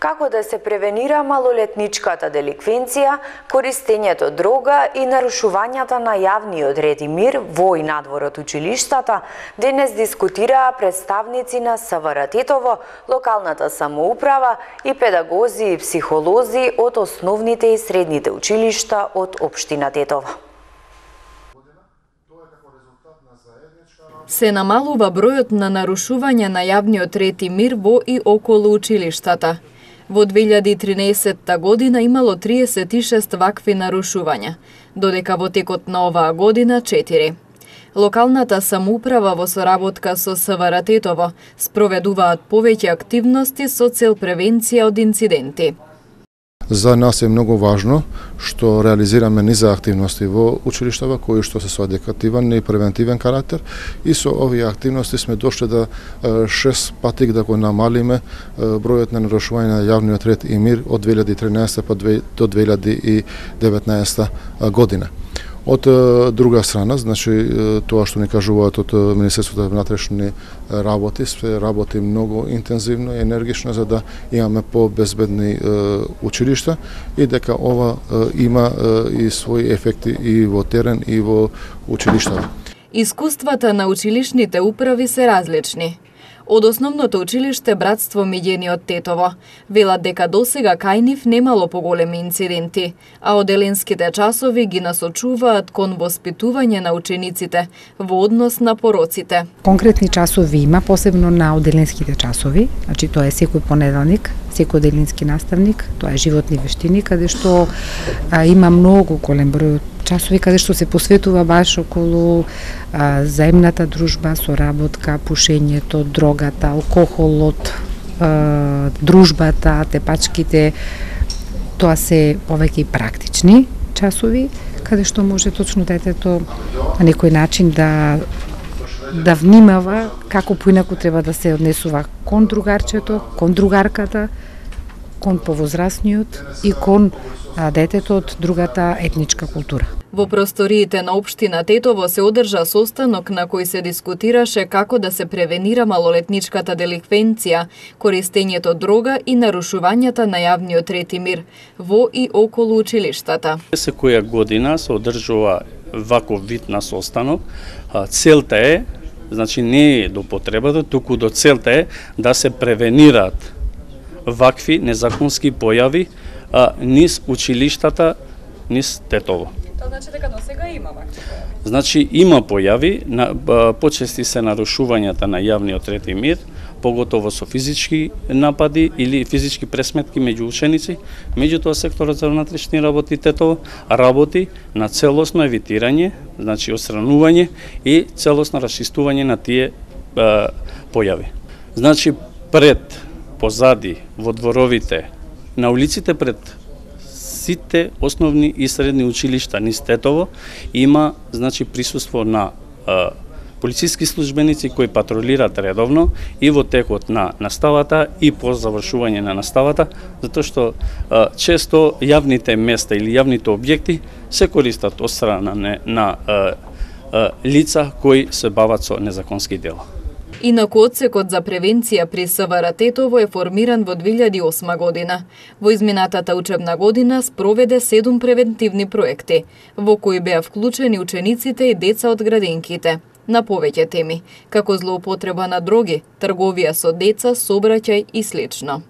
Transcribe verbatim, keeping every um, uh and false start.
Како да се превенира малолетничката деликвенција, користењето дрога и нарушувањата на јавниот ред и мир во и надвор од училиштата, денес дискутираа представници на СВР Тетово, локалната самоуправа и педагози и психолози од основните и средните училишта од општина Тетово. Се намалува бројот на нарушувања на јавниот ред и мир во и околу училиштата. Во две илјади и тринаесетта година имало триесет и шест вакви нарушувања, додека во текот на оваа година четири. Локалната самоуправа во соработка со СВР Тетово спроведуваат повеќе активности со цел превенција од инциденти. За нас е многу важно што реализираме низа активности во училиштава кои што се со едукативен и превентивен карактер, и со овие активности сме дошли да шест пати да го намалиме бројот на нарушување на јавниот ред и мир од две илјади и тринаесетта до две илјади и деветнаесетта година. Од друга страна, значи тоа што ни кажуваат од Министерството за внатрешни работи, се работи многу интензивно и енергично за да имаме побезбедни училишта и дека ова има и своји ефекти и во терен и во училиштата. Искуствата на училишните управи се различни. Од основното училиште Братство Миѓени од Тетово велат дека досега кај нив немало поголеми инциденти, а оделенските часови ги насочуваат кон воспитување на учениците во однос на пороците. Конкретни часови има, посебно на оделенските часови, значи тоа е секој понеделник, секој оделенски наставник, тоа е животни вештини, каде што а, има многу голем број часови каде што се посветува баш околу а, заемната дружба, соработка, пушењето, дрогата, алкохолот, а, дружбата, тепачките. Тоа се повеќе и практични часови, каде што може точно детето на некој начин да да внимава како поинаку треба да се однесува кон другарчето, кон другарката, кон повозрасниот и кон а, детето од другата етничка култура. Во просториите на општина Тетово се одржа состанок на кој се дискутираше како да се превенира малолетничката деликвенција, користењето дрога и нарушувањата на јавниот ред и мир во и околу училиштата. Секоја година се одржува ваков вид на состанок. Целта е, значи не е до потребата, туку до целта е да се превенираат вакви незаконски појави а, низ училиштата, низ Тетово. Тоа значи дека досега има вакви појави? Значи има појави, на, а, почести се нарушувањата на јавниот ред и мир, поготово со физички напади или физички пресметки меѓу ученици. Меѓутоа секторот за внатрешни работи Тетово работи на целосно евитирање, значи отстранување и целосно расчистување на тие а, појави. Значи пред, позади, во дворовите, на улиците пред сите основни и средни училишта низ Тетово има, значи, присуство на а, полициски службеници кои патролираат редовно и во текот на наставата и по завршување на наставата, затоа што а, често јавните места или јавните објекти се користат од страна на, на а, а, лица кои се бават со незаконски дела. Инаку одсекот за превенција при СВР Тетово е формиран во две илјади и осма година. Во изминатата учебна година спроведе седум превентивни проекти, во кои беа вклучени учениците и деца од градинките на повеќе теми, како злоупотреба на дроги, трговија со деца, сообраќај и слично.